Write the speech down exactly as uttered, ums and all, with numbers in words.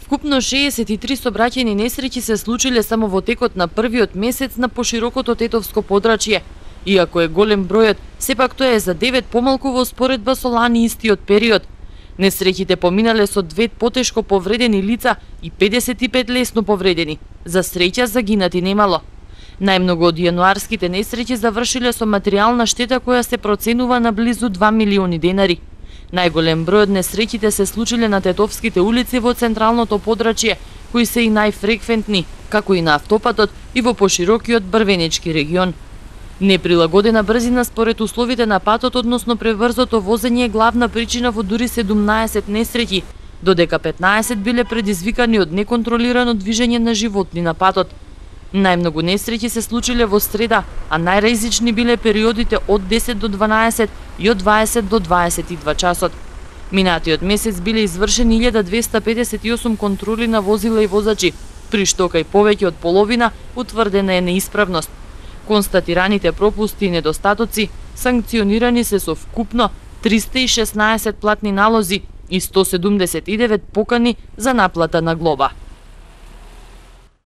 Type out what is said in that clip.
Вкупно шеесет и три сообраќајни несреќи се случиле само во текот на првиот месец на поширокото Тетовско подрачје. Иако е голем бројот, сепак тоа е за девет помалку во споредба со лани истиот период. Несреќите поминале со две потешко повредени лица и педесет и пет лесно повредени. За среќа загинати немало. Најмногу од јануарските несреќи завршиле со материјална штета која се проценува на близу два милиони денари. Најголем број од несреќите се случиле на Тетовските улици во централното подрачје, кои се и најфреквентни, како и на автопатот и во поширокиот Брвенички регион. Неприлагодена брзина според условите на патот, односно преврзото возење, е главна причина во дури седумнаесет несреќи, додека петнаесет биле предизвикани од неконтролирано движење на животни на патот. Најмногу несреќи се случиле во среда, а најризични биле периодите од десет до дванаесет и од дваесет до дваесет и два часот. Минатиот месец биле извршени илјада двеста педесет и осум контроли на возила и возачи, при што кај повеќе од половина утврдена е неисправност. Констатираните пропусти и недостатоци санкционирани се со вкупно триста и шеснаесет платни налози и сто седумдесет и девет покани за наплата на глоба.